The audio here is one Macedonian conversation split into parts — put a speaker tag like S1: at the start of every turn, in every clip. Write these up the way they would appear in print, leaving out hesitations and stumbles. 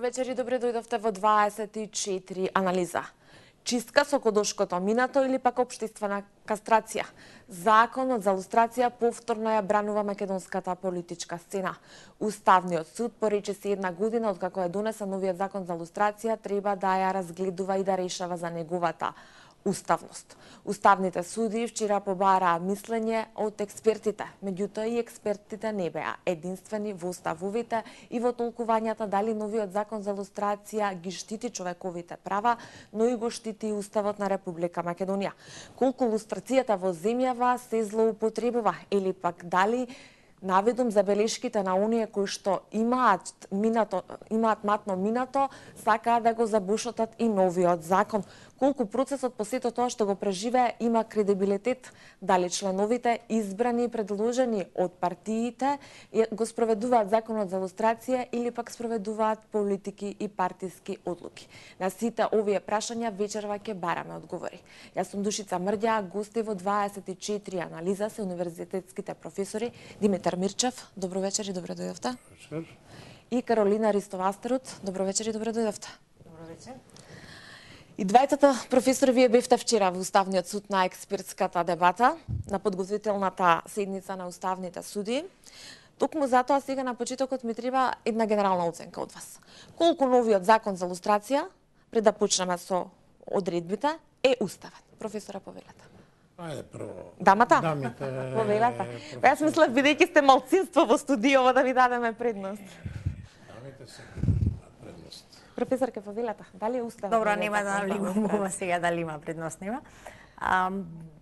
S1: вечер и добре дојдовте во 24 анализа. Чистка со кодошкото минато или пак општествена кастрација. Законот за лустрација повторно ја бранува македонската политичка сцена. Уставниот суд порече се 1 година откако е донесен новиот закон за лустрација, треба да ја разгледува и да решава за неговата уставност. Уставните суди вчера побараа мислење од експертите, меѓутоа и експертите не беа единствени во уставовите и во толкувањата дали новиот закон за лустрација ги штити човековите права, но и го штити и Уставот на Република Македонија. Колку лустрацијата во земјава се злоупотребува или пак дали наведум забелешките на оние кои што имаат матно минато, сакаат да го забушатат и новиот закон. Колку процесот по сето тоа што го преживее има кредибилитет, дали членовите избрани и предложени од партиите го спроведуваат законот за лустрација или пак спроведуваат политики и партиски одлуки. На сите овие прашања вечерва ќе бараме одговори. Јас сум Душица Мрѓа, гости во 24 анализа се универзитетските професори Димитар Мирчев, добро вечер и добре дојдовте.
S2: Вечер.
S1: И Каролина Ристовастерот, добро вечер и добре дојдовте.
S3: Добро вечер.
S1: И двајтата професори вие бевте вчера во Уставниот суд на експертската дебата, на подготвителната седница на уставните суди. Токму затоа сега на почетокот ми треба една генерална оценка од вас. Колку новиот закон за лустрација, пред да почнеме со одредбите, е уставен? Професора, повелете.
S2: Ајде прво.
S1: Дамата?
S2: Дамите.
S1: Повелете. Јас мислев, бидејќи сте малцинство во студиово, да ви дадеме предност.
S2: Дамите се предност.
S1: Професорке, повелете, дали е уставен?
S3: Добро, нема да навлегуваме сега дали има предност, нема.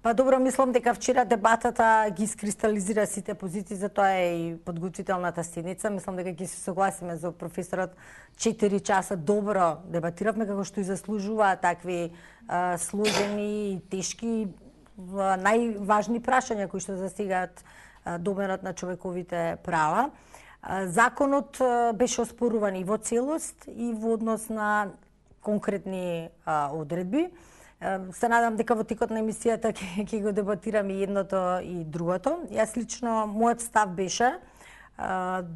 S3: Па добро, мислам дека вчера дебатата ги искристализира сите позиции, затоа е и подготвителната седница. Мислам дека ќе се согласиме за професорот. 4 часа добро дебатиравме, како што и заслужува такви сложени и тешки најважни прашања кои што засегаат доменот на човековите права. Законот беше оспоруван и во целост и во однос на конкретни одредби. Се надам дека во текот на емисијата ќе го дебатираме и едното и другото. Јас лично, мојот став беше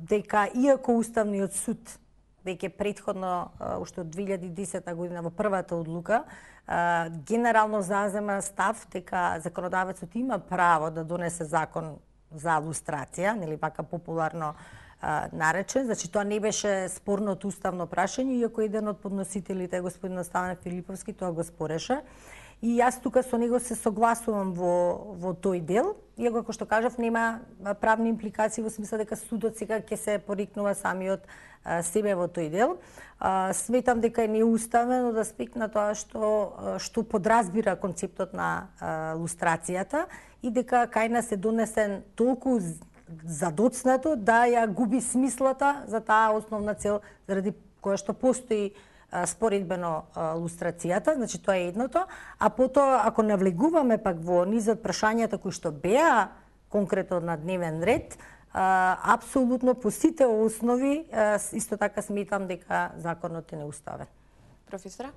S3: дека иако Уставниот суд веќе претходно, уште од 2010 година во првата одлука, генерално зазема став дека законодавецот има право да донесе закон за лустрација, нели вака популарно наречен. Значи тоа не беше спорното уставно прашање, иако еден од подносителите, господин Стајан Филиповски, тоа го спореше. И јас тука со него се согласувам во тој дел, иако како што кажав нема правни импликации во смисла дека судот сега ќе се порикнува самиот себе во тој дел. Сметам дека е неуставен од аспект на тоа што подразбира концептот на лустрацијата и дека кај нас е донесен толку задоцнато да ја губи смислата за таа основна цел заради која што постои споредбено лустрацијата, значи тоа е едното, а потоа ако навлегуваме пак во низот прашањата кои што беа конкретно на дневен ред, апсолутно по сите основи исто така сметам дека законот е неуставен.
S1: Професора?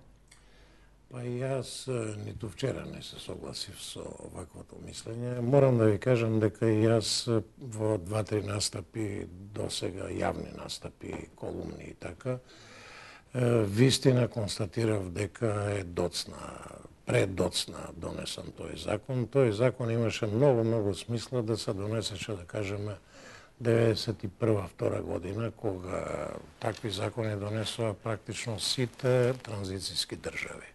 S2: Па јас ниту вчера не се согласив со ваквото мислење. Морам да ви кажам дека јас во 2-3 настапи досега, јавни настапи, колумни и така, вистина констатирав дека е предоцна донесен тој закон. Тој закон имаше многу смисла да се донесеше, да кажеме, 91-2 година, кога такви закони донесува практично сите транзицијски држави.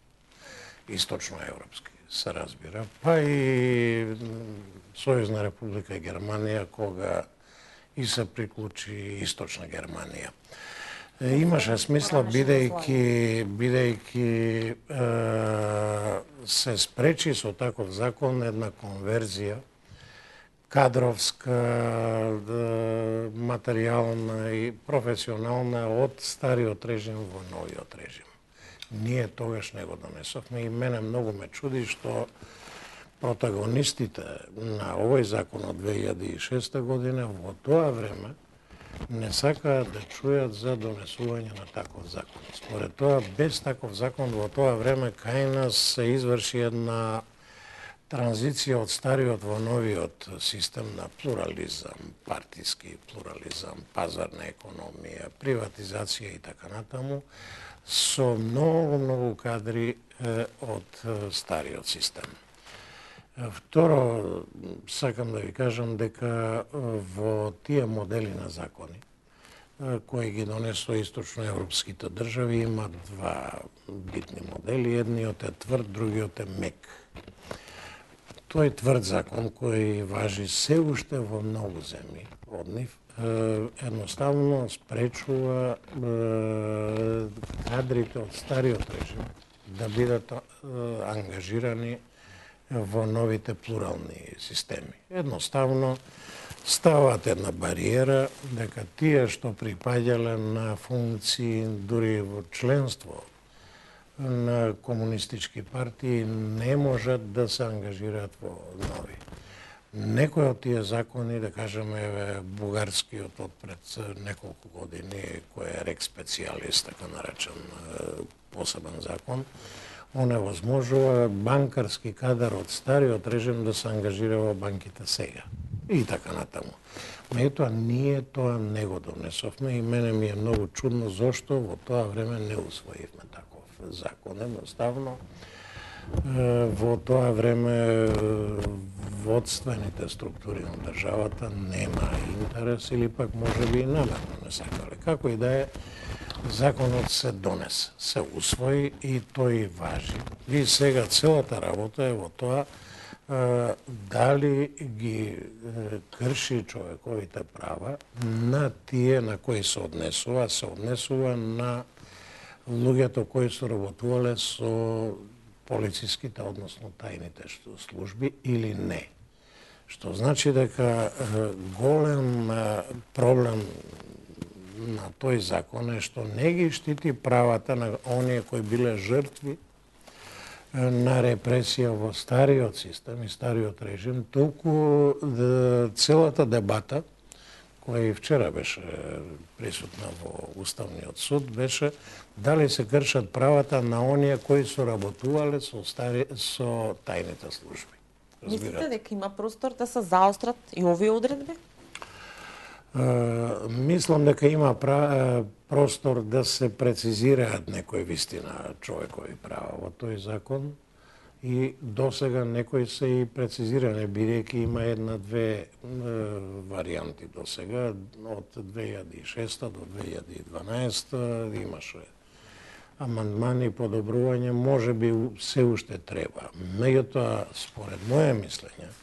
S2: Источноевропски, се разбира. Па и Сојузна република Германија, кога и се приклучи Источна Германија. Имаше смисла, бидејќи се спречи со таков закон една конверзија кадровска, материјална и професионална од стариот режим во новиот режим. Ние тогаш не го донесовме и мене многу ме чуди што протагонистите на овој закон од 2006 година во тоа време не сакаат да чујат за донесување на таков закон. Според тоа, без таков закон во тоа време кај нас се изврши една транзиција од стариот во новиот систем на плурализам, партиски плурализам, пазарна економија, приватизација и така натаму, со многу кадри од стариот систем. Второ, сакам да ви кажам дека во тие модели на закони, кои ги донесоа источноевропските држави, има два битни модели. Едниот е тврд, другиот е мек. Тој тврд закон кој важи се уште во многу земји од нив, едноставно спречува кадрите од стариот режим да бидат ангажирани во новите плурални системи. Едноставно стават една бариера дека тие што припаѓале на функции дури во членство на комунистички партии не можат да се ангажираат во нови. Некои од тие закони, да кажеме бугарскиот од пред неколку години, кој е рек специјалист, така наречен посебен закон, оневозможува банкарски кадар од стариот режим да се ангажира во банките сега. И така натаму. Меѓутоа, ние тоа не го донесовме и мене ми е многу чудно зошто во тоа време не усвоивме таков закон. Едноставно, во тоа време водствените структури на државата нема интерес или пак може би и намерно не сакале. Како и да е, законот се донесе, се усвои и тој важи. И сега целата работа е во тоа дали ги крши човековите права на тие на кои се однесува на луѓето кои се работувале со полициските, односно тајните служби или не. Што значи дека голем проблем на тој закон е што не ги штити правата на оние кои биле жртви на репресија во стариот систем и стариот режим, толку целата дебата, која и вчера беше присутна во Уставниот суд, беше дали се кршат правата на оние кои се работувале со тајните служби.
S1: Мислите дека има простор да се заострат и овие одредби?
S2: Мислам дека има простор да се прецизираат некои вистина човекови права во тој закон и досега некои се и прецизирани, бидејќи има една-две варијанти досега, од 2006 до 2012 имаше амандмани, подобрување, може би се уште треба. Меѓутоа, според моје мислење,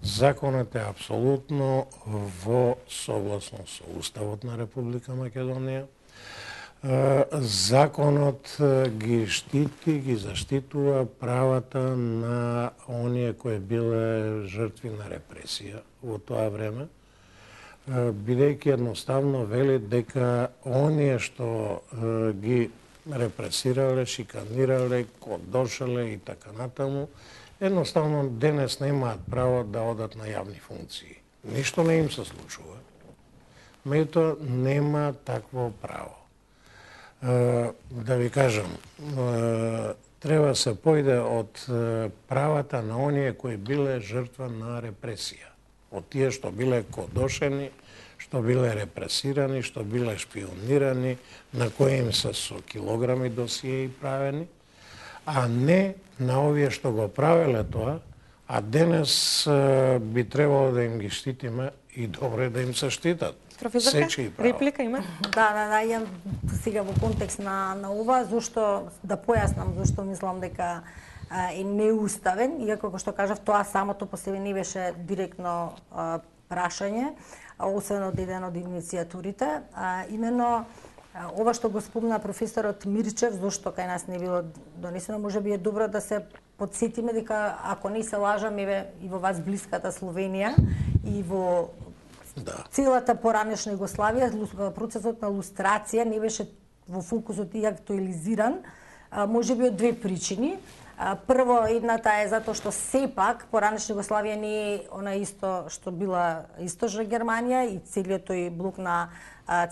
S2: законот е апсолутно во согласно со Уставот на Република Македонија. Законот ги штити, ги заштитува правата на оние кои биле жртви на репресија во тоа време, бидејќи едноставно вели дека оние што ги репресирале, шиканирале, кодошале и така натаму, едноставно денес немаат право да одат на јавни функции. Ништо не им се случува. Меѓутоа нема такво право. Да ви кажам, треба се појде од правата на оние кои биле жртва на репресија. Од тие што биле кодошени, што биле репресирани, што биле шпионирани, на кои им се со килограми досиеи правени, а не на овие што го правеле тоа, а денес би требало да им ги штитиме и добре да им се штитат.
S1: Професорка, реплика има?
S3: Да, ја сега во контекст на ова, зашто да појаснам зашто мислам дека е неуставен, иако како што кажав, тоа самото по себе не беше директно прашање, освен од еден од иницијатурите, именно ова што го спомна професорот Мирчев, зашто кај нас не било донесено, може би е добро да се подсетиме дека, ако не се лажам, и во вас блиската Словенија и во целата поранешна Југославија, процесот на лустрација не беше во фокусот и актуализиран, може би од две причини. Прво, едната е затоа што сепак поранешна Југославија не е она исто што била Источна Германија и целиот тој блок на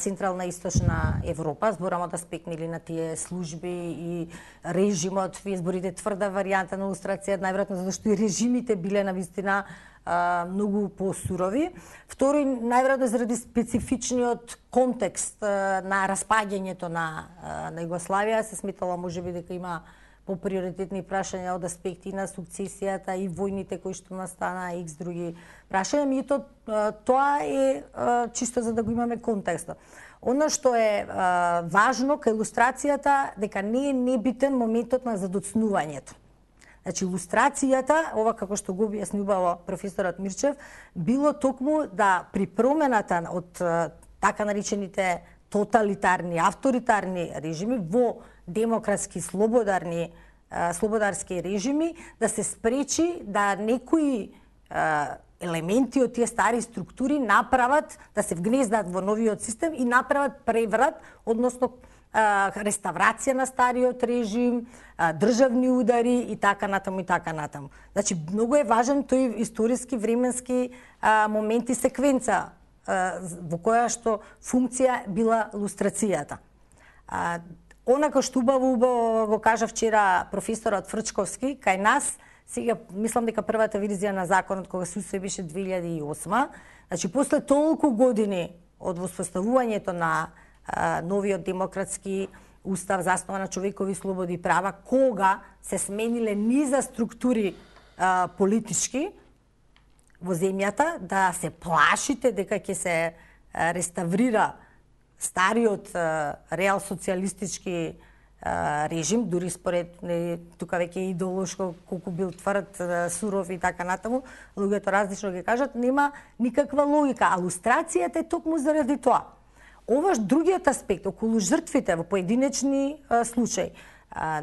S3: Централна и Источна Европа, зборам од аспект на тие служби и режимот, вие зборите тврда варијанта на лустрација, најверојатно затоа што и режимите биле навистина многу посурови. Втори, најверојатно заради специфичниот контекст на распаѓањето на Југославија, се сметало можеби дека има поприоритетни прашања од аспекти на сукцесијата и војните кои што настана и други прашања, меѓутоа тоа е чисто за да го имаме контекстот. Оно што е важно кај илустрацијата дека не е небитен моментот на задоцнувањето. Значи, илустрацијата, ова како што го објасни убаво професорот Мирчев, било токму да при промената од така наречените тоталитарни, авторитарни режими во демократски, слободарски режими, да се спречи да некои елементи од тие стари структури направат, да се вгнездат во новиот систем и направат преврат, односно реставрација на стариот режим, државни удари и така натаму и така натаму. Значи, многу е важен тој историски, временски момент и секвенца во која што функција била лустрацијата. Онака што убаво го кажа вчера професорот Фрчковски, кај нас, сега мислам дека првата верзија на законот кога се усвои беше 2008, значи после толку години од воспоставувањето на новиот демократски устав заснова на човекови слободи и права, кога се смениле низа структури политички во земјата, да се плашите дека ќе се реставрира стариот реал социјалистички режим, дури според тука веќе идеолошко колку бил тврд, суров и така натаму, луѓето различно ги кажат, нема никаква логика, а лустрацијата е токму заради тоа. Ова другиот аспект околу жртвите во поединечни случаи.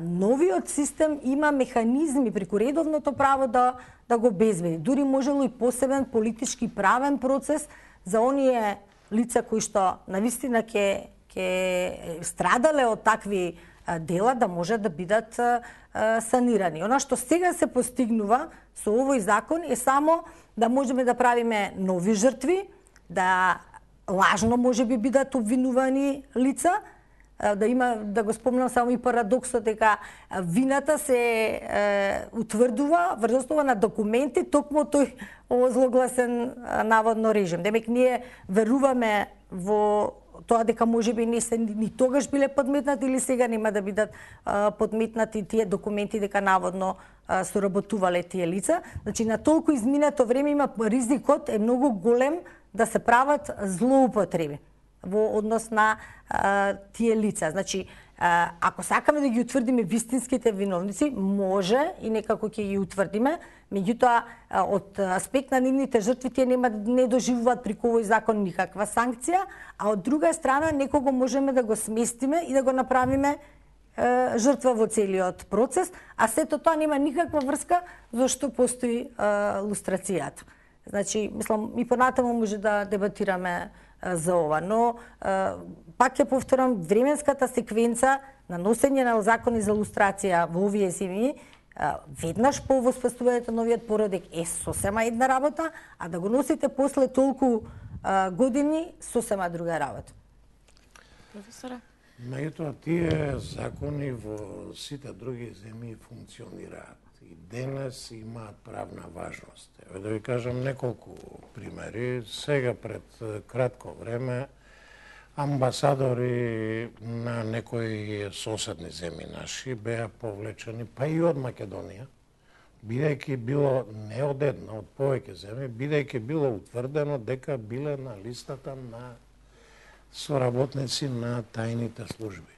S3: Новиот систем има механизми преку редовното право да го обезбеди. Дури можело и посебен политички правен процес за оние лица кои што навистина ќе страдале од такви дела да може да бидат санирани. Она што сега се постигнува со овој закон е само да можеме да правиме нови жртви, да лажно може би бидат обвинувани лица, да го спомнам само и парадоксот дека вината се утврдува врз основа на документи токму тој озлогласен наводно режим. Демек ние веруваме во тоа дека можеби не се ни тогаш биле подметнати или сега нема да бидат подметнати тие документи дека наводно соработувале тие лица. Значи на толку изминато време има ризикот е многу голем да се прават злоупотреби во однос на тие лица. Значи, ако сакаме да ги утврдиме вистинските виновници, може и некако ќе ги утврдиме, меѓутоа од аспект на нивните жртви тие не доживуваат преку овој закон никаква санкција, а од друга страна некого можеме да го сместиме и да го направиме жртва во целиот процес, а сето тоа нема никаква врска зашто постои лустрацијата. Значи, мислам, и понатаму може да дебатираме за ова, но пак ќе повторам, временската секвенца на носење на закони за лустрација во овие земји веднаш по воспоставувањето на новиот породек е сосема една работа, а да го носите после толку години сосема друга работа.
S1: Професоре?
S2: Меѓутоа, тие закони во сите други земји функционираат и денес имаат правна важност. Еве да ви кажам неколку примери. Сега пред кратко време амбасадори на некои соседни земји наши беа повлечени, па и од Македонија, бидејќи било не од една, од повеќе земји, бидејќи било утврдено дека биле на листата на соработници на тајните служби.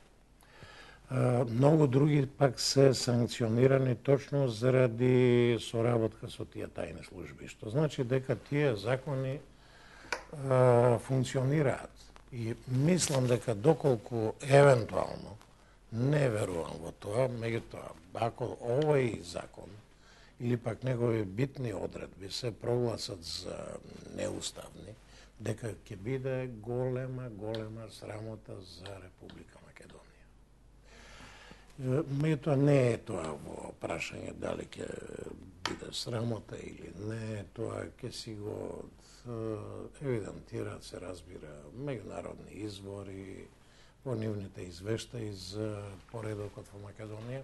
S2: Многу други пак се санкционирани точно заради соработка со тие тајни служби, што значи дека тие закони функционираат. И мислам дека доколку евентуално, не верувам во тоа, меѓутоа, ако овој закон или пак негови битни одредби се прогласат за неуставни, дека ќе биде голема срамота за Република Македонија. Меѓутоа не е тоа во прашање дали ќе биде срамота или не, тоа ќе си го евидентира, се разбира, меѓународни извори, во нивните извештаи за поредокот во Македонија.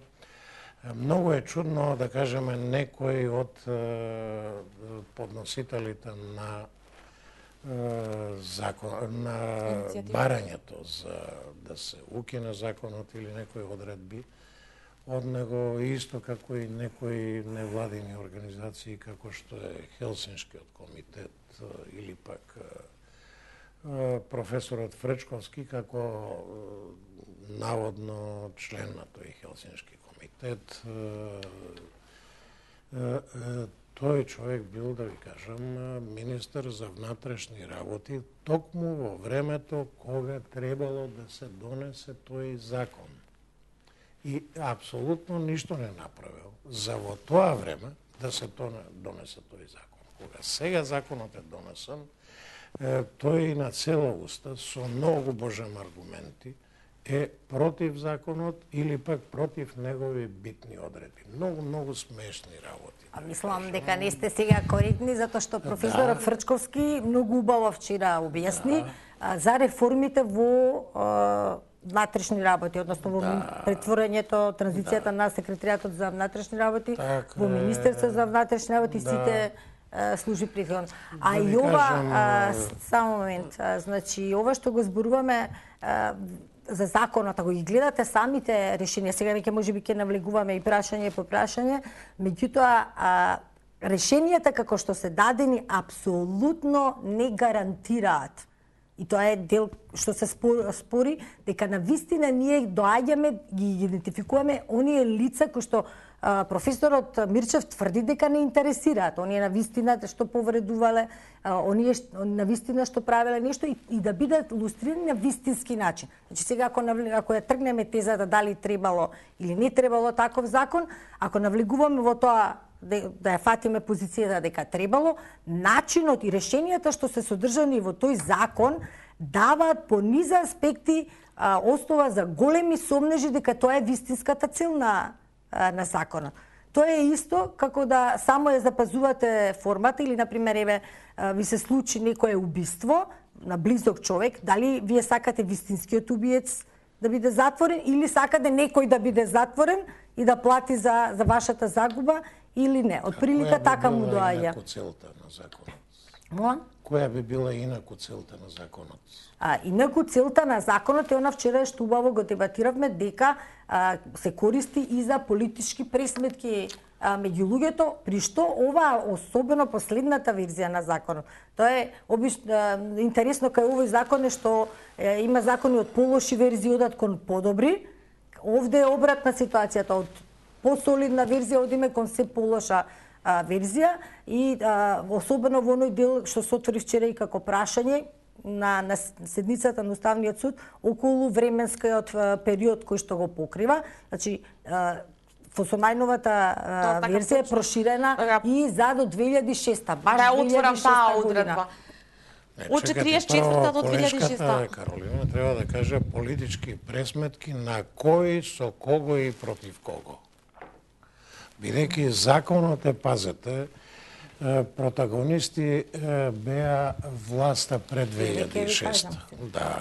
S2: Многу е чудно да кажеме некој од подносителите на закон, на барањето за да се укине законот или некои одредби од него, исто како и некои невладини организации како што е Хелсиншкиот комитет или пак професорот Фречковски како наводно член на тој Хелсиншки комитет. Тој човек бил, да ви кажам, министер за внатрешни работи токму во времето кога требало да се донесе тој закон. И апсолутно ништо не направил за во тоа време да се донесе тој закон. Кога сега законот е донесен, тој на цела уста со многу божем аргументи е против законот или пак против негови битни одредби. Многу смешни работи.
S3: Мислам дека не сте сега коректни, затоа што професорот Фрчковски многу убаво вчера објасни за реформите во внатрешни работи, односно во претворањето, транзицијата на секретаријатот за внатрешни работи во Министерство за внатрешни работи, сите служи претходно. А и ова, само момент, значи, ова што го зборуваме за законот, ако ги гледате самите решенија, сега веќе можеби ќе навлегуваме и прашање по прашање, меѓутоа решенијата како што се дадени апсолутно не гарантираат. И тоа е дел што се спори дека навистина ние доаѓаме, ги идентификуваме оние лица кои што професорот Мирчев тврди дека не интересираат. Оние навистина што повредувале, оние навистина што правеле нешто и да бидат илустрирани на вистински начин. Значи сега ако ја тргнеме тезата дали требало или не требало таков закон, ако навлегуваме во тоа да ја фатиме позицијата дека требало, начинот и решенијата што се содржани во тој закон даваат по низа аспекти основа за големи сомнежи дека тоа е вистинската цел на законот. Тоа е исто како да само ја запазувате формата или, например, еве, ви се случи некое убиство на близок човек, дали вие сакате вистинскиот убиец да биде затворен или сакате некој да биде затворен и да плати за вашата загуба или не. Од прилика така му доаѓа.
S2: Која би била инаку целта на законот?
S3: Моја?
S2: Која би била инаку целта на законот?
S3: Инаку целта на законот е она вчера што убаво го дебатиравме дека се користи и за политички пресметки меѓу луѓето, при што ова особено последната верзија на законот. Тоа е интересно кај овој закон е што има закони од полоши верзии одат кон подобри. Овде е обратна ситуацијата, од посолидна верзија одиме кон се полоша верзија и особено во оној дел што се отвори вчера и како прашање на седницата на Уставниот суд околу временскиот период кој што го покрива. Значи, со најновата верзија е проширена и за до 2006-та, баш 2006 година.
S1: Од 44-та до 2006-та.
S2: Каролина треба да каже политички пресметки на кој, со кого и против кого. Бидејќи законот е, пазете, протагонисти беа власта пред 2006. Да.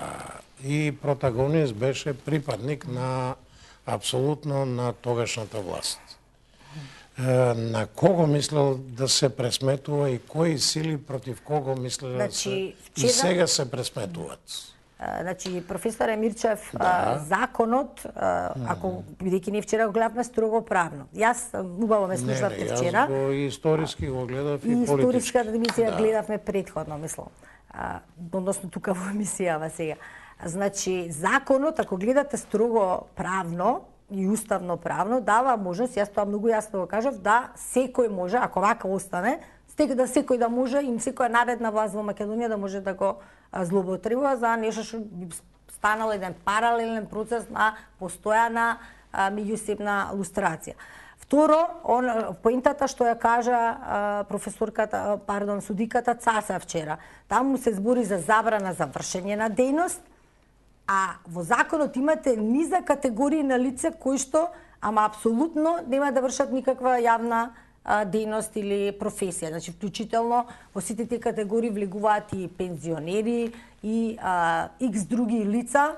S2: И протагонист беше припадник на апсолутно на тогашната власт. На кого мислел да се пресметува и кои сили против кого мислел да се и сега се пресметуваат?
S3: Значи, професор Емирчев, законот, ако бидејќи ние вчера го гледавме строго правно. Јас убаво ме слушавте вчера.
S2: Јас го историски го гледав и политички.
S3: И историската емисија гледавме претходно, мислам. Односно тука во емисијава сега. Значи, законот, ако гледате строго правно и уставно правно, дава можност, јас тоа многу јасно го кажав, да секој може, ако вака остане, да секој да може и секоја наредна власт во Македонија да може да го злоупотребува за нешто што би станал еден паралелен процес на постојана меѓусебна лустрација. Второ, поентата што ја кажа судиката Цаса вчера, таму се збори за забрана за вршење на дејност А во законот имате низа категории на лица кои што, ама апсолутно нема да вршат никаква јавна дејност или професија. Значи, вклучително во сите тие категории влегуваат и пензионери и икс други лица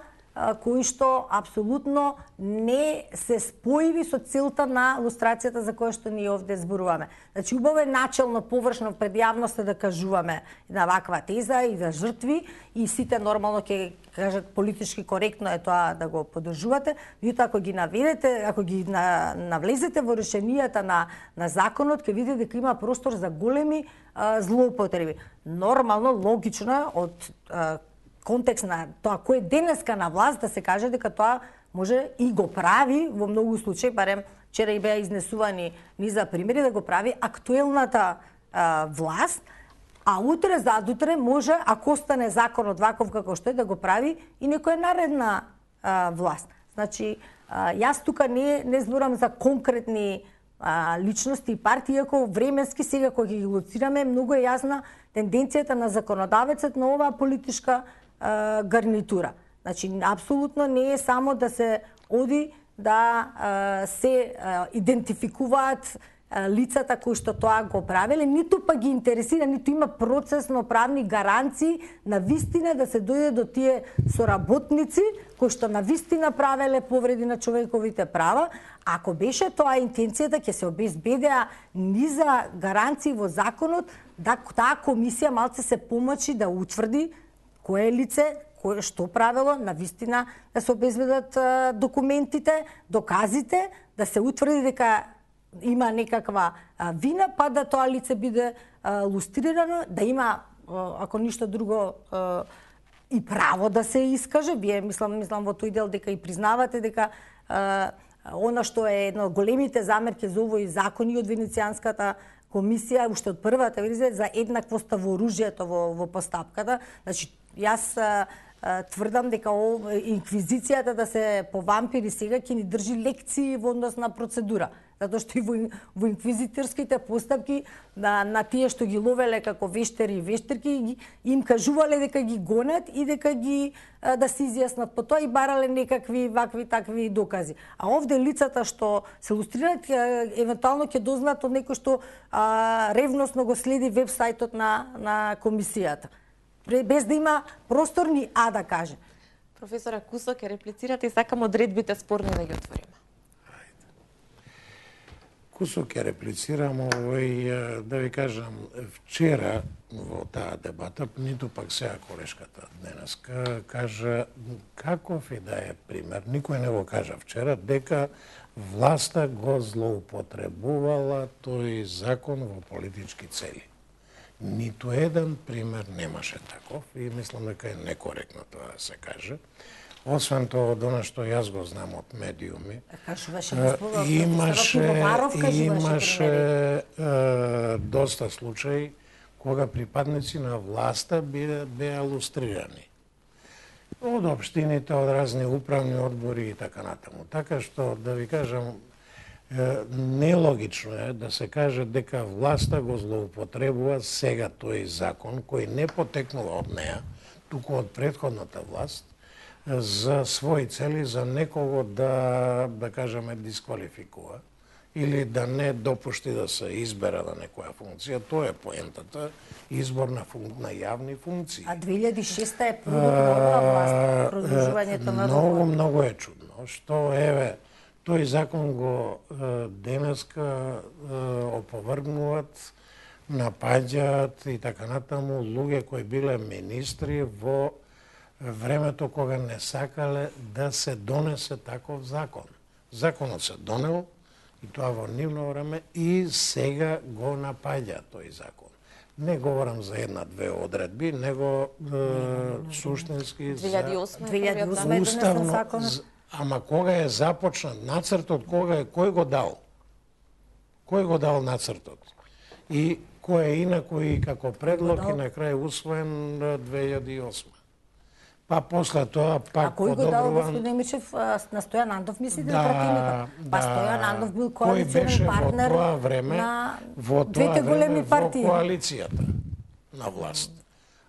S3: кои што апсолутно не се споиви со целта на лустрацијата за која што ние овде зборуваме. Значи, убаво е начелно, површно пред јавноста да кажуваме на ваква теза и за жртви и сите нормално ќе кажат политички коректно е тоа да го поддржувате. Меѓутоа, ако ги наведете, ако ги навлезете во решенијата на законот, ќе видите дека има простор за големи злоупотреби. Нормално, логично е од контекст на тоа кој е денеска на власт да се каже дека тоа може и го прави во многу случаи, барем вчера и беа изнесувани низа примери да го прави актуелната власт, а утре задутре може, ако остане законот ваков како што е, да го прави и некоја наредна власт. Значи, јас тука не зборам за конкретни личности и партии, иако временски сега кога ги лоцираме, многу е јасна тенденцијата на законодавецот на оваа политичка гарнитура. Значи, апсолутно не е само да се оди да се идентификуваат лицата кои што тоа го правеле, ниту па ги интересира, ниту има процесно правни гаранции на вистина да се дојде до тие соработници кои што на вистина правеле повреди на човековите права. Ако беше тоа интенцијата, ќе се обезбедеа низа гаранции во законот да таа комисија малце се помачи да утврди кое лице, кое што правело, на вистина да се обезбедат документите, доказите, да се утврди дека има некаква вина, па да тоа лице биде лустрирано, да има, ако ништо друго, и право да се искаже. Вие, мислам во тој дел дека и признавате дека она што е едно од големите замерки за овој закон и од Венецијанската комисија, уште од првата верзија, за еднаквост во оружјето во постапката. Значи, јас тврдам дека инквизицијата да се по вампири сега ќе ни држи лекции во однос на процедура. Затоа што и во инквизиторските постапки на тие што ги ловеле како вештери и вештерки, им кажувале дека ги гонат и дека ги да се изјаснат по тоа и барале некакви вакви такви докази. А овде лицата што се лустрираат евентуално ќе дознаат од некој што ревносно го следи веб-сајтот на комисијата, без да има простор ни да каже.
S1: Професора Кусо, ќе реплицирате и сакам одредбите спорни да ги отвориме.
S2: Кусо ќе реплицирам овој, да ви кажам, вчера во таа дебата, ниту пак сега колешката денеска, кажа каков и да е пример, никој не го кажа вчера, дека власта го злоупотребувала тој закон во политички цели. Ниту еден пример немаше таков и мислам дека е некоректно тоа да се каже. Освен тоа, од она што јас го знам од медиуми, имаше доста случаи кога припадници на власта беа лустрирани. Од општините, од разни управни одбори и така натаму. Така што, да ви кажам, нелогично е да се каже дека власта го злоупотребува сега тој закон, кој не потекнува од неа, туку од претходната власт, за своји цели, за некого да кажеме, дисквалификува или да не допушти да се избере на некоја функција. Тоа е поентата, избор на јавни функции.
S3: А 2006 е продолжувањето власт, продолжувањето на
S2: Многу е чудно, што еве тој закон го денеска оповргнуваат, напаѓаат и така натаму луѓе кои биле министри во времето кога не сакале да се донесе таков закон. Законот се донел и тоа во нивно време и сега го напаѓа тој закон. Не говорам за една-две одредби, него суштински
S1: 2008
S2: уставно. Ама кога е започнат нацртот, кој го дал? Кој го дал нацртот? И кој е инакој како предлог и на крај усвоен 2008. Па после тоа пак
S3: подобруван... А кој го дал господин
S2: Немичев
S3: на Стојан Андов, мислите, противникот? Па Стојан Андов бил коалиционен партнер
S2: во тоа време,
S3: на двете големи партии.
S2: Во коалицијата на власт.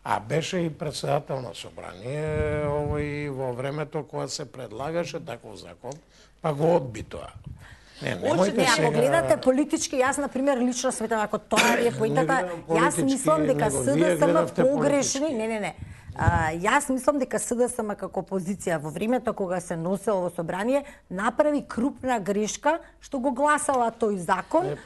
S2: А беше и председател на собрание овој во времето кога се предлагаше таков закон, па го одби тоа. Немојте
S3: Ако
S2: сега...
S3: гледате политички, јас на пример лично сметам ако тоа е поентата, јас мислам дека СДСМ погрешни, не. Јас мислам дека СДСМ како опозиција во времето кога се носело во собрание направи крупна грешка што го гласала тој закон.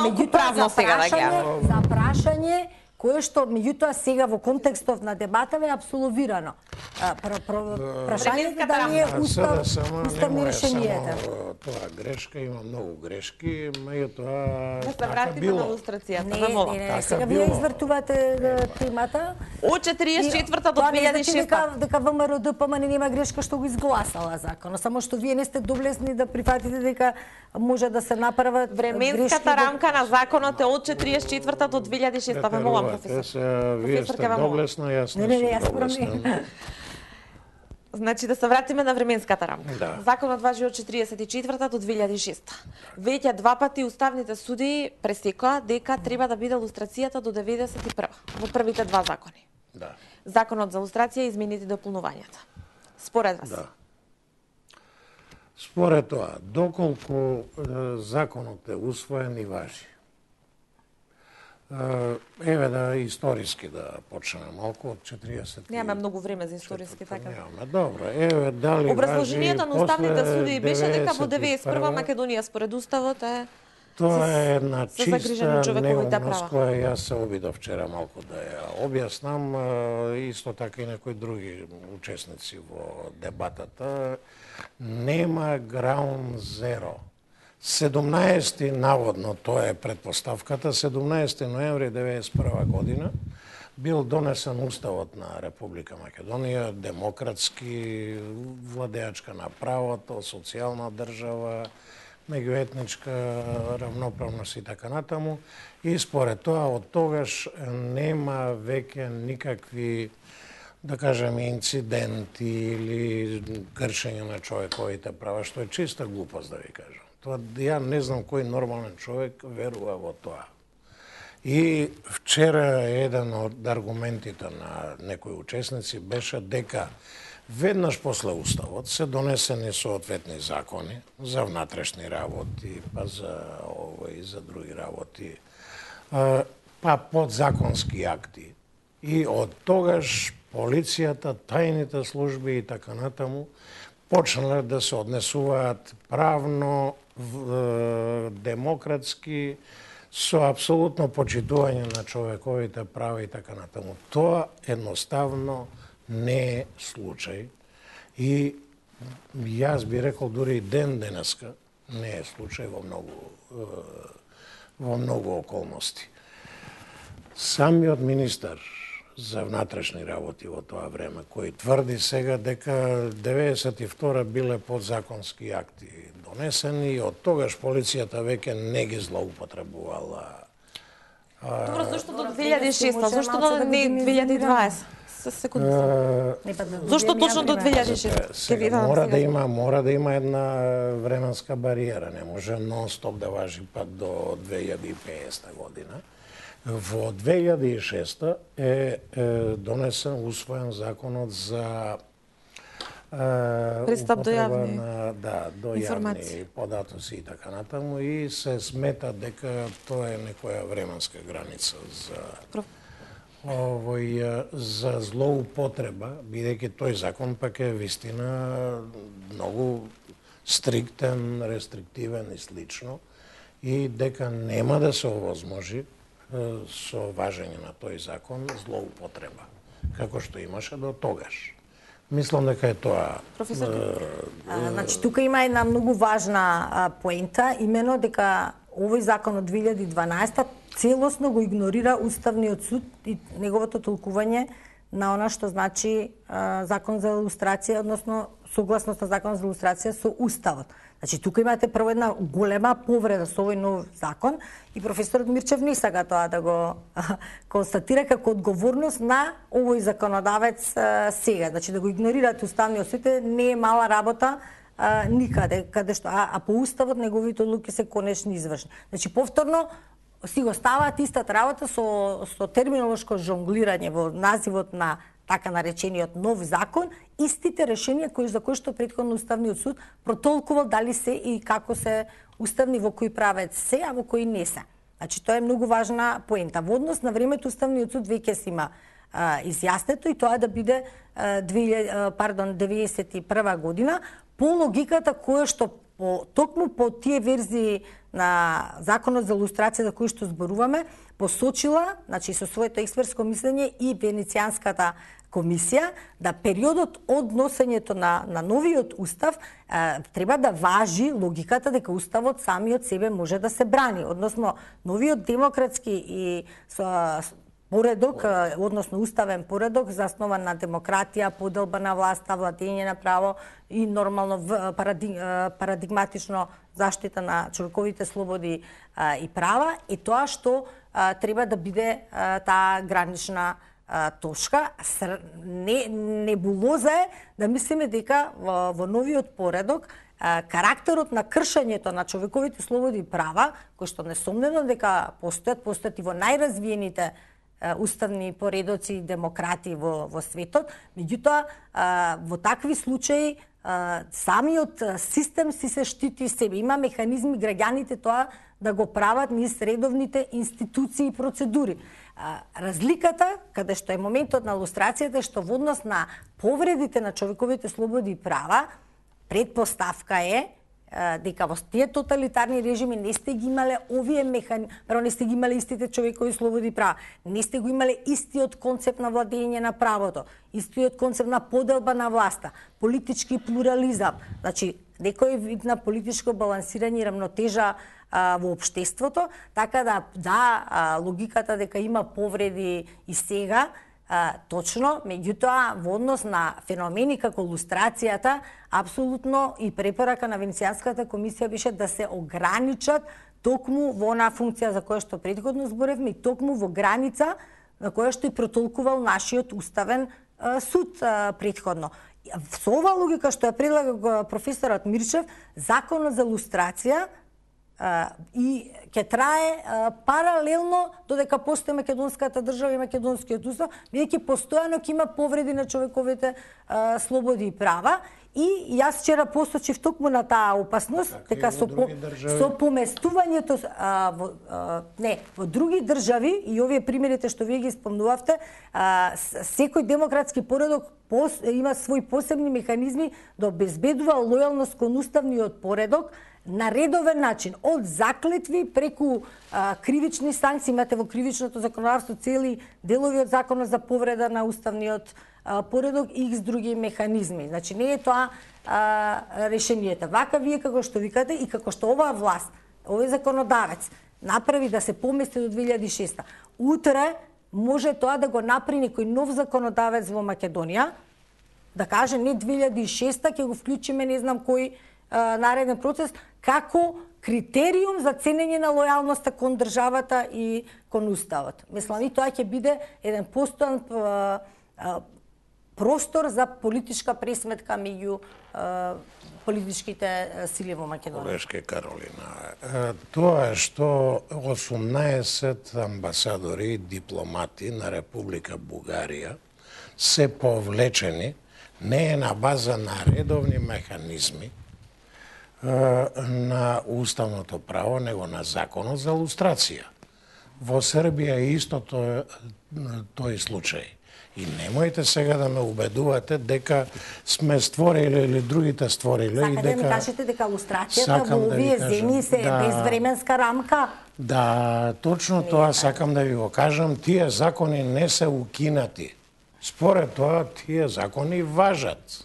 S1: Меѓутоа правно сега да ги
S3: за прашање кое што меѓутоа сега во контекстов на дебатава е апсолвирано. Прашањето дали е уставни решенијата.
S2: Тоа грешка, има многу грешки, меѓутоа
S1: да се вратиме на лустрацијата, да молам.
S3: Не, сега вие извртувате темата.
S1: Од 44-та до 2006-та.
S3: Дека ВМРО ДПМН нема грешка што го изгласала законот, само што вие не сте доблесни да прифатите дека може да се направат
S1: временската рамка на законот е од 44-та до 2006-та, ве молам.
S2: Вие сте доблесна, јас не сум доблесна.
S1: Значи да се вратиме на временската рамка.
S2: Да.
S1: Законот важи од 44-та до 2006-та. Веќе два пати уставните суди пресекоа дека треба да биде лустрацијата до 91-та, во првите два закони.
S2: Да.
S1: Законот за лустрација и измените и дополнувањата. Според вас?
S2: Да. Според тоа, доколку законот е усвоен и важи, еве да историски да почнеме малку од 40.
S1: Немаме многу време за историски така.
S2: Немаме, добро. Еве дали
S1: образложението на уставните суди беше дека во 91
S2: 91
S1: Македонија според уставот е
S2: тоа е една чиста
S1: човековите
S2: неумност која јас се обидов вчера малку да ја објаснам, исто така и некои други учесници во дебатата. Нема ground zero. 17 наводно, тоа е предпоставката, 17 ноември 1991 година бил донесен уставот на Република Македонија, демократски, владеачка на правото, социјална држава, меѓуетничка равноправност и така натаму. И според тоа, од тогаш нема веќе никакви, да кажеме, инциденти или кршење на човековите права, што е чиста глупост, да ви кажам. Тоа, ја не знам кој нормален човек верува во тоа. И вчера еден од аргументите на некои учесници беше дека веднаш после уставот се донесени соодветни закони за внатрешни работи, па за овој, за други работи, па подзаконски акти. И од тогаш полицијата, тајните служби и така натаму почнале да се однесуваат правно, демократски, со апсолутно почитување на човековите права и така натаму. Тоа едноставно не е случај и јас би рекол дури и ден денеска не е случај во многу околности. Самиот министар за внатрешни работи во тоа време, кој тврди сега дека 92 биле подзаконски акти донесени и од тогаш полицијата веќе не ги злоупотребувала.
S1: Добро, зашто до 2006, зашто до не 2020? Секунди. Зошто точно до 2006?
S2: Мора да има една временска бариера, не може нон-стоп да важи пак до 2050 година. Во 2006 е донесен, усвоен законот за
S1: пристап до јавни
S2: до јавни податоци и така натаму и се смета дека тоа е некоја временска граница за злоупотреба, бидејќи тој закон пак е вистина многу стриктен, рестриктивен и слично и дека нема да се овозможи со важење на тој закон злоупотреба, како што имаше до тогаш. Мислам дека е тоа.
S3: Значи, тука има една многу важна поента, имено дека овој закон од 2012 целосно го игнорира Уставниот суд и неговото толкување на она што значи закон за илустрација, односно согласност на закон за илустрација со Уставот. Значи, тука имате прво една голема повреда со овој нов закон и професорот Мирчев не сака тоа да го констатира како одговорност на овој законодавец сега. Значи, да го игнорираат Уставниот суд не е мала работа никаде, каде што, а по Уставот неговите одлуки се конечно извршни. Значи, повторно, си го ставаат истата работа со терминолошко жонглирање во називот на така наречениот нов закон, истите решенија за кои што претходно Уставниот суд протолкувал дали се и како се уставни, во кој правец се, а во кој не се. Значи, тоа е многу важна поента. Во однос на времето Уставниот суд веќе си има изјаснето и тоа да биде 91 година по логиката која што токму по тие верзии на Законот за лустрација за кој што зборуваме, посочила, значи со своето експертско мислење и Венецијанската комисија, да периодот од носењето на новиот устав треба да важи логиката дека уставот самиот себе може да се брани, односно новиот демократски и поредок, односно уставен поредок заснован на демократија, поделба на власта, владење на право и нормално парадигматично заштита на човековите слободи и права, и тоа што треба да биде таа гранична точка. Небулоза е да мислиме дека во новиот поредок карактерот на кршењето на човековите слободи и права, кои што несомнено дека постојат и во најразвиените уставни поредоци и демократи во светот, меѓутоа во такви случаи самиот систем си се штити себе. Има механизми граѓаните тоа да го прават низ редовните институции и процедури. Разликата, каде што е моментот на лустрацијата, е што во однос на повредите на човековите слободи и права, предпоставка е дека во тие тоталитарни режими не сте ги имале овие механизми, не сте ги имале истите човекови слободи и права, не сте го имале истиот концепт на владење на правото, истиот концепт на поделба на власта, политички плурализам, значи некој вид на политичко балансирање и рамнотежа во општеството, така да логиката дека има повреди и сега, точно, меѓутоа во однос на феномени како лустрацијата, апсолутно и препорака на Венецијанската комисија беше да се ограничат токму во онаа функција за која што претходно зборевме и токму во граница на која што и протолкувал нашиот уставен суд претходно. Со оваа логика што ја предлага професорот Мирчев, законот за лустрација и ќе трае паралелно додека постои македонската држава и македонскиот устав, бидејќи постојано ќе има повреди на човековите слободи и права. И јас вчера посочив токму на таа опасност, дека со поместувањето во други држави и овие примерите што вие ги спомнувавте, секој демократски поредок има свои посебни механизми да обезбедува лојалност кон уставниот поредок на редовен начин, од заклетви преку кривични санкции. Имате во кривичното законодавство цели делови од законот за повреда на уставниот поредок и X други механизми. Значи не е тоа решението. Вака вие како што викате и како што оваа власт, овој законодавец направи да се помести до 2006. Утре може тоа да го направи некој нов законодавец во Македонија, да каже не 2006 ќе го вклучиме не знам кој нареден процес како критериум за ценење на лојалноста кон државата и кон уставот. Мислам, и тоа ќе биде еден постојан простор за политичка пресметка меѓу политичките сили во Македонија.
S2: Колешке Каролина, тоа што 18 амбасадори и дипломати на Република Бугарија се повлечени не е на база на редовни механизми на уставното право, него на законот за лустрација. Во Србија е исто тој случај. И немојте сега да ме убедувате дека сме створиле или другите створиле.
S3: Сакате да ми кажете дека лустрацијата во овие земји се безвременска рамка?
S2: Да, точно тоа сакам да ви го кажам. Тие закони не се укинати. Според тоа, тие закони важат.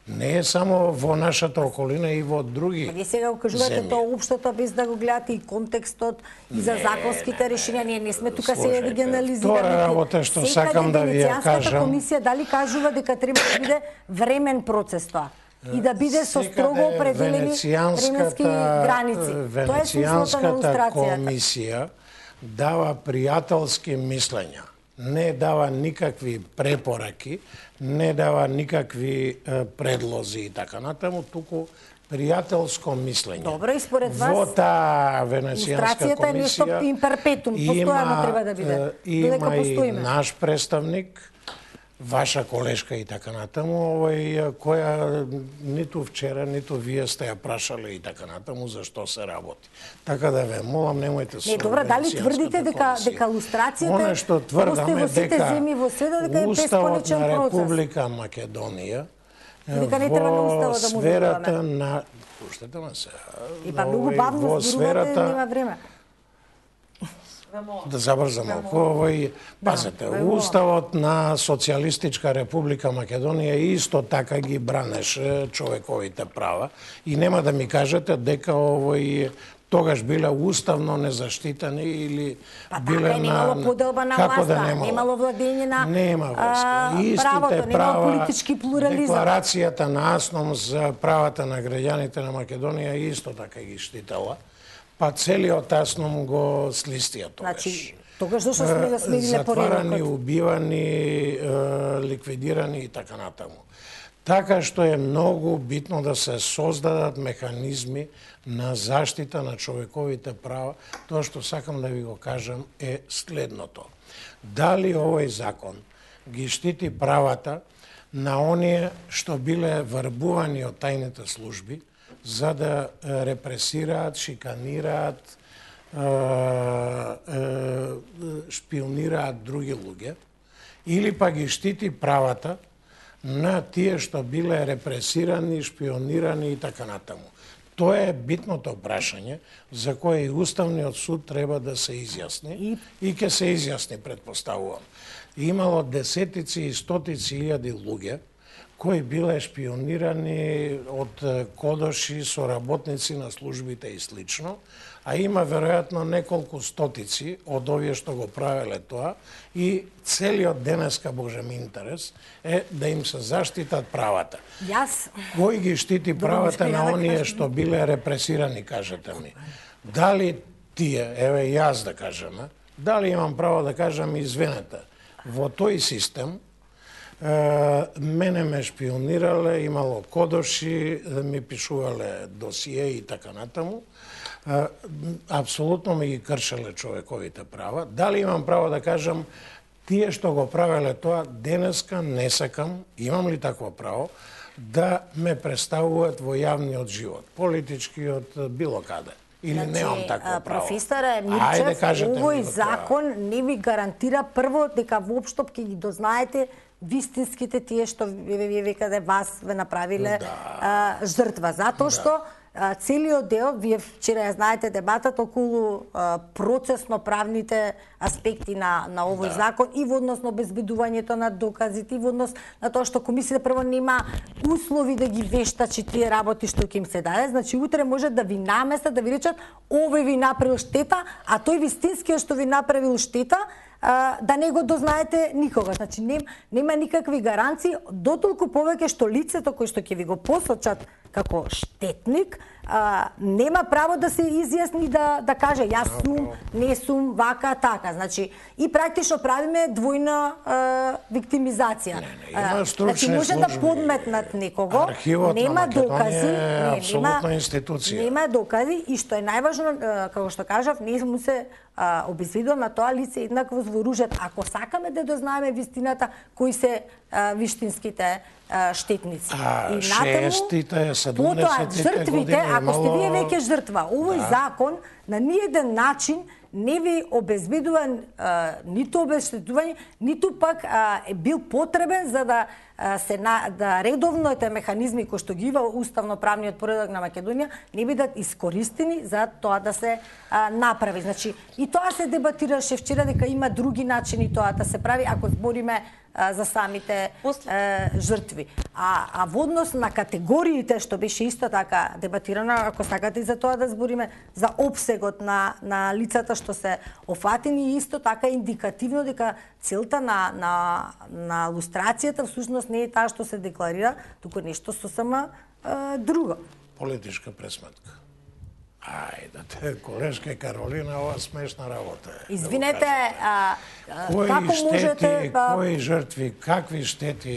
S2: Не е само во нашата околина и во други земји.
S3: Вие сега го кажувате тоа општото без да го гледате и контекстот и за законските решенија. Ние не сме тука сега да ги анализираме.
S2: Тоа работа што сакам да ви ја кажам.
S3: Комисија дали кажува дека треба да биде времен процес тоа и да биде со строго определени временски граници. Тоа е смислото на лустрацијата.
S2: Комисија дава пријателски мислења. Не дава никакви препораки, не дава никакви предлози и така натаму, туку пријателско мислење.
S3: Добро, и според вас
S2: во таа Венецијанска
S3: лустрацијата е нешто
S2: комисија
S3: имперпетум, постојано треба да биде.
S2: Има и наш представник, ваша колешка и така натаму, која ниту вчера, ниту вие сте ја прашале и така натаму зашто се работи. Така да ве молам, немојте се.
S3: Не, добро, дали тврдите дека лустрацијата
S2: Оно што тврдаме дека
S3: Уставот
S2: на Република Македонија
S3: дека не треба на Уставот да му
S2: сферата на пуштете ме се.
S3: И па многу бавно зборувате, нема време.
S2: Да забрзам малку, пазете, Уставот на Социјалистичка Република Македонија исто така ги бранеше човековите права и нема да ми кажете дека тогаш биле уставно незаштитени или биле на...
S3: немало поделба на власта, немало владење на правото, немало политички плурализам.
S2: Декларацијата на АСНОМ за правата на граѓаните на Македонија исто така ги штитела. Па целиот АСНОМ го слистија тогаш.
S3: Значи, тогаш зашто сме да смениле поредокот?
S2: Затварани, убивани, ликвидирани и така натаму. Така што е многу битно да се создадат механизми на заштита на човековите права. Тоа што сакам да ви го кажам е следното. Дали овој закон ги штити правата на оние што биле врбувани од тајните служби за да репресираат, шиканираат, шпионираат други луѓе, или па ги штити правата на тие што биле репресирани, шпионирани и така натаму. Тоа е битното прашање за кое и Уставниот суд треба да се изјасни и ќе се изјасни, предпоставувам. Имало десетици и стотици илјади луѓе кои биле шпионирани од кодоши, соработници на службите и слично, а има веројатно неколку стотици од овие што го правеле тоа и целиот денеска Божем интерес е да им се заштитат правата. Кој ги штити правата на оние што биле репресирани, кажете ми? Дали тие, еве јас да кажем, дали имам право да кажам, извинете, во тој систем мене ме шпионирале, имало кодоши, ми пишувале досие и така натаму. Апсолутно ми ги кршеле човековите права. Дали имам право да кажам, тие што го правеле тоа, денеска не сакам, имам ли такво право, да ме представуваат во јавниот живот, политичкиот, било каде? Или немам такво право?
S3: Професоре Мирчев, овој закон не ви гарантира прво дека воопшто ќе ги дознаете вистинските тие што вие векаде вас ве направиле жртва. Затоа што целиот дел, вие вчера ја знаете дебатата околу процесно-правните аспекти на овој закон и во однос на обезбедувањето на доказите, и во однос на тоа што комисијата прво нема услови да ги вештачи тие работи што ќе им се даде. Значи утре може да ви наместат, да ви речат овој ви направил штета, а тој вистинскиот што ви направил штета да не го дознаете никога. Значи нема никакви гаранции, дотолку повеќе што лицето кој што ќе ви го посочат како штетник нема право да се изјасни да каже јас сум, не сум, вака, така. Значи и практично правиме двојна виктимизација. Значи може да подметнат некого, нема докази, нема докази и што е најважно, како што кажав, не му се обезбедува на тоа лице еднакво вооружат. Ако сакаме да дознаеме вистината, кои се виштинските штетници.
S2: И шестите, 70-те години
S3: ако сте вие веќе жртва, овој закон на ниеден начин не ви обезбедува ниту обештетување, ниту пак е бил потребен за да редовните механизми кои што ги има уставно-правниот поредок на Македонија не бидат искористени за тоа да се направи. Значи и тоа се дебатираше вчера дека има други начини тоа да се прави ако збориме за самите жртви. А во однос на категориите што беше исто така дебатирано, ако сакате и за тоа да збориме за опсегот на лицата што се офатени, исто така индикативно дека целта на лустрацијата всушност не е таа што се декларира, туку нешто сосема друго.
S2: Политичка пресметка. Ајде, колешка Каролина, ова смешна работа е.
S3: Извинете,
S2: Кои
S3: како
S2: штети,
S3: можете...
S2: кои жртви, какви штети?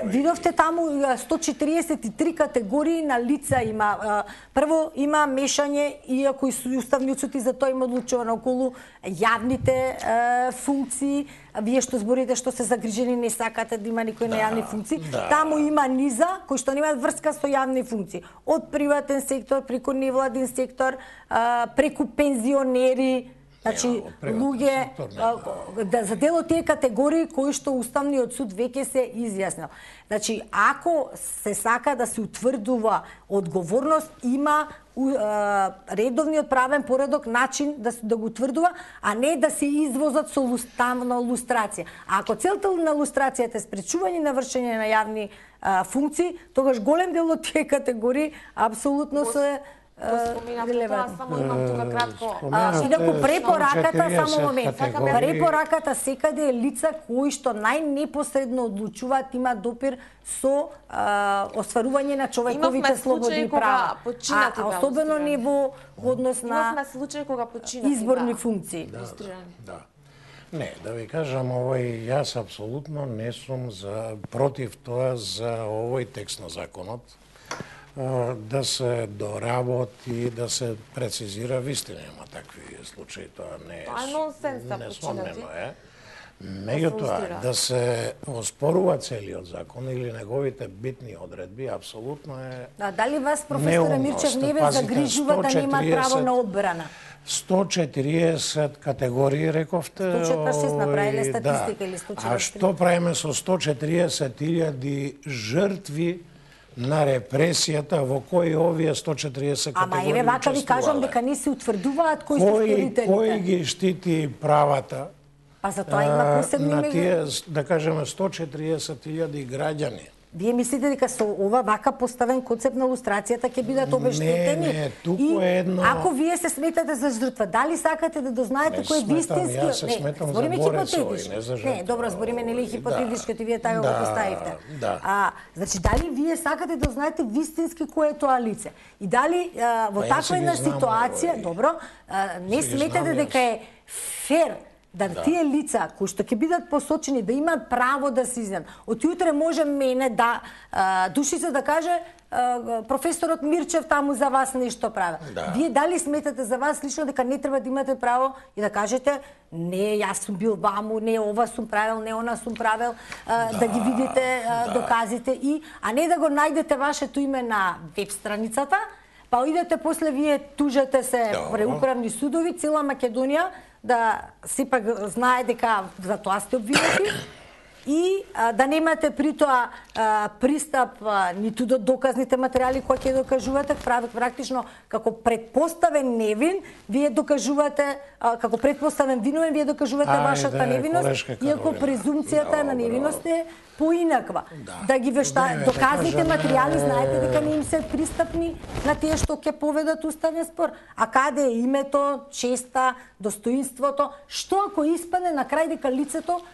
S3: Видовте таму 143 категории на лица има. Прво има мешање, иако и уставниот суд и за тоа има одлучувано околу јавните функции. Вие што зборите што се загрижени, не сакате да има никој на јавни функции. Таму има низа кои што немаат врска со јавни функции. Од приватен сектор, преку невладин сектор, преку пензионери, значи луѓе за дел од тие категории кои што Уставниот суд веќе се изјаснил. Значи, ако се сака да се утврдува одговорност, има редовниот правен поредок начин да го утврдува, а не да се извозат со уставна лустрација. А ако целта на лустрацијата е спречување на вршење на јавни функции, тогаш голем дел од тие категории апсолутно се
S1: релевантни. Само имам тука кратко.
S3: Инаку препораката, само момент, препораката секаде е лица кои што најнепосредно одлучуваат, имаат допир со остварување на човековите слободи и права. Особено не во однос на изборни функции.
S2: Не, да ви кажам, јас апсолутно не сум против тоа за овој текст на законот, да се доработи, да се прецизира. Вистина има такви случаи, тоа не е.
S1: Тоа е нонсенс да починати.
S2: Меѓутоа, да се оспорува целиот закон или неговите битни одредби, апсолутно е
S3: дали вас, професоре Мирчев, не ве загрижува да нема право на одбрана?
S2: 140 категории, рековте.
S3: 146 направиле статистика или 143?
S2: А што правиме со 140.000 жртви на репресијата во кои овие 140 категории?
S3: Ама еве вака ви кажам дека не се утврдуваат кои се сторителите.
S2: Кој ги штити правата?
S3: Па за тоа има посебни
S2: на тие, да кажеме, 140.000 граѓани.
S3: Вие мислите дека со ова вака поставен концепт на лустрацијата ќе бидат обештетени?
S2: Не, туку е едно...
S3: Ако вие се сметате за жртва, дали сакате да дознаете кој е вистински...
S2: Јас се сметам за борец овој, не за жртва.
S3: Не, добро, збориме нели хипотетички, вие така го поставивте. Значи, дали вие сакате да знаете вистински кој е тоа лице? И дали во таква една ситуација, добро, не сметате дека е фер да тие лица кои што ќе бидат посочени да имаат право да се изјават. Од јутре може мене да души се да каже професорот Мирчев таму за вас нешто прави. Вие дали сметате за вас лично дека не треба да имате право и да кажете не, јас сум бил ваму, не, ова сум правил, не, она сум правил, да ги видите доказите а не да го најдете вашето име на веб страницата, па идете после вие тужете се пред управни судови, цела Македонија да сепак знае дека за тоа сте обвинети и да немате при тоа пристап ниту до доказните материјали кои ќе докажувате, практично како предпоставен невин, вие докажувате, како предпоставен виновен, вие докажувате вашата невиност, иако презумцијата на невиност е поинаква. Да ги доказните материјали, знаете дека не им се пристапни на тие што ќе поведат уставен спор. А каде е името, честа, достоинството? Што ако испадне на крај дека лицето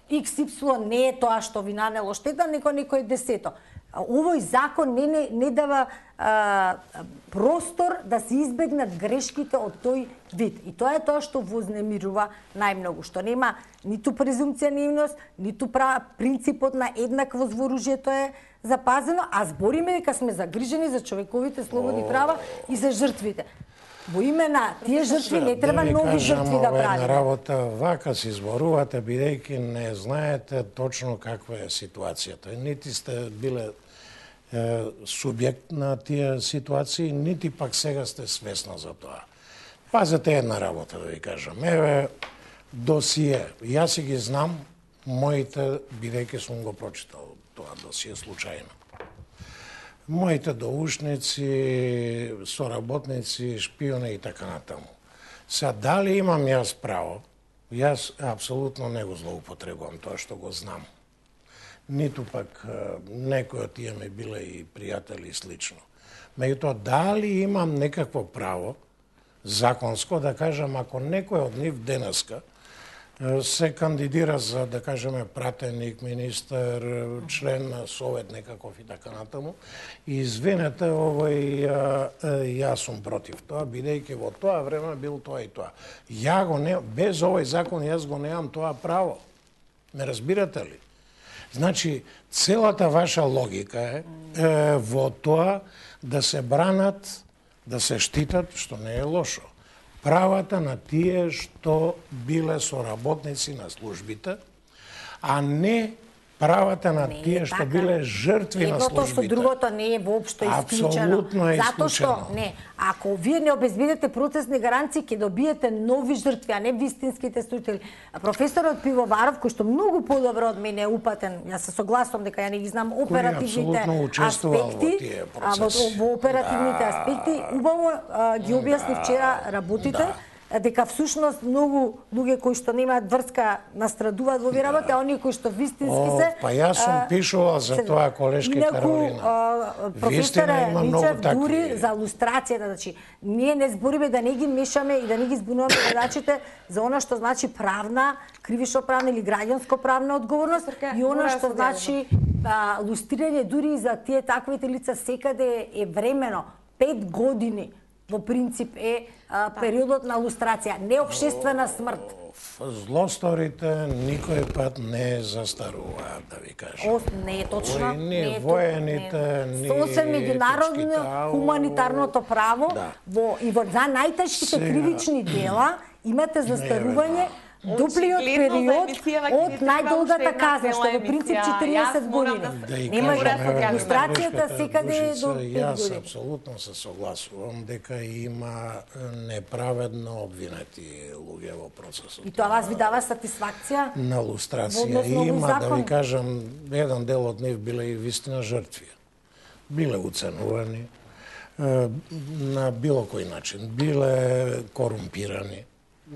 S3: XY не е тоа што ви нанело штета, него некој десето. Овој закон не дава простор да се избегнат грешките од тој вид. И тоа е тоа што вознемирува најмногу, што нема ниту презумција невиност, ниту принципот на еднаквост во оружјето е запазено, а збориме дека сме загрижени за човековите слободи права и за жртвите. Во име на тие жртви не треба нови жртви да правиме.
S2: Една работа вака се изборувате, бидејќи не знаете точно каква е ситуацијата. Нити сте биле субјект на тие ситуации, нити пак сега сте свесна за тоа. Пазете една работа, да ви кажам. Еве, досие. Јас си ги знам, моите, бидејќи сум го прочитал тоа досие случајно. Моите доушници, соработници, шпиони и така натаму. Сега, дали имам јас право? Јас апсолутно не го злоупотребувам тоа што го знам. Ниту пак некои од тие ми биле и пријатели и слично. Меѓутоа, дали имам некакво право законско да кажам ако некој од нив денеска се кандидира за, да кажеме, пратеник, министер, член на совет некаков и така натаму. И извинете, јас сум против тоа, бидејќи во тоа време бил тоа и тоа. Без овој закон јас го немам тоа право. Ме разбирате ли? Значи, целата ваша логика е во тоа да се бранат, да се штитат, што не е лошо, правата на тие што биле соработници на службите, а не правата на тие што биле жртви на службите.
S3: Едното со другото не е воопшто исклучено.
S2: Апсолутно е
S3: Затоа што,
S2: исклучено.
S3: ако вие не обезбедите процесни гаранции, ќе добиете нови жртви, а не вистинските служители. Професорот Пивоваров, кој што многу подобро од мене е упатен, јас се согласувам дека ја не ги знам оперативните аспекти, во оперативните аспекти, убаво ги објасни вчера работите, дека всушност многу луѓе кои што немаат врска настрадуваат во овие работи, а оние кои што вистински се...
S2: Па јас сум пишувал за тоа, колешки Каролина.
S3: Професоре Мичев, дури за лустрацијата, значи, ние не збориме да не ги мешаме и да не ги збунуваме гледачите за она што значи правна, кривично-правна или граѓанско-правна одговорност и она што значи лустрирање дури и за тие таквите лица секаде е времено, 5 години во принцип е периодот на лустрација, не обштествена смрт.
S2: Злосторите никој пат не застаруваат, да ви кажам.
S3: Не е точно.
S2: Ни воените, ни
S3: сосем меѓународно хуманитарното право и во за најтешките кривични дела имате застарување дуплиот период од најдолгата казна, што во принцип 40 години. Нема лустрацијата секаде до 5 години.
S2: Јас апсолутно се согласувам дека има неправедно обвинети луѓе во процесот.
S3: И тоа вас ви дава сатисфакција?
S2: На лустрација има, да ви кажам, еден дел од нив биле и вистина жртви. Биле уценувани на било кој начин, биле корумпирани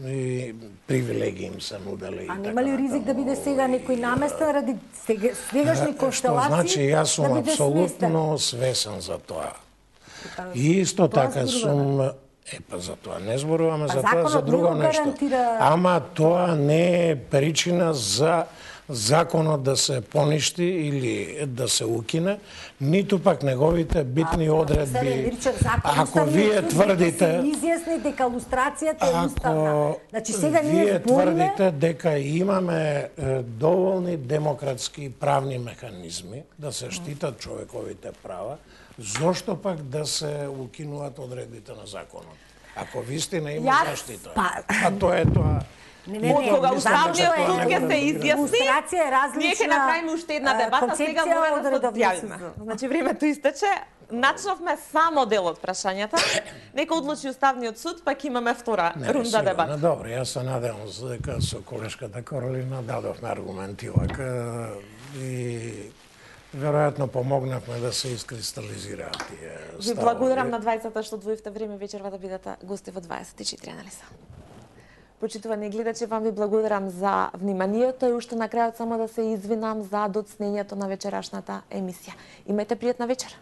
S2: и привилегии им се нудели.
S3: А нема ли ризик да биде сега некој наместен ради сегашни констелации?
S2: Што значи, јас сум апсолутно свесен за тоа. И исто така сум... за тоа не зборуваме, за тоа за друго нешто. Ама тоа не е причина за законот да се поништи или да се укине, ниту пак неговите битни одредби. Ако вие тврдите...
S3: се изјасни дека лустрацијата е уставна. Значи сега
S2: вие тврдите дека имаме доволни демократски правни механизми да се штитат човековите права, зошто пак да се укинуваат одредбите на законот? Ако вистина има заштита, а тоа е тоа.
S1: Од кога Уставниот суд ќе се изјасни, ние ќе направиме уште една дебата, сега мора да се одјавиме. Значи времето истече, начнавме само дел од прашањата, нека одлучи Уставниот суд, пак имаме втора рунда дебата.
S2: Добро, јас се надевам дека со колешката Каролина дадовме аргументи вака и веројатно помогнавме да се искристализираат тие ставови.
S1: Ви благодарам на двајцата што одвоивте време вечерва да бидете гости во 24 анализа. Почитувани гледачи, вам ви благодарам за вниманието и уште на крајот само да се извинам за доцнењето на вечерашната емисија. Имајте пријатна вечер.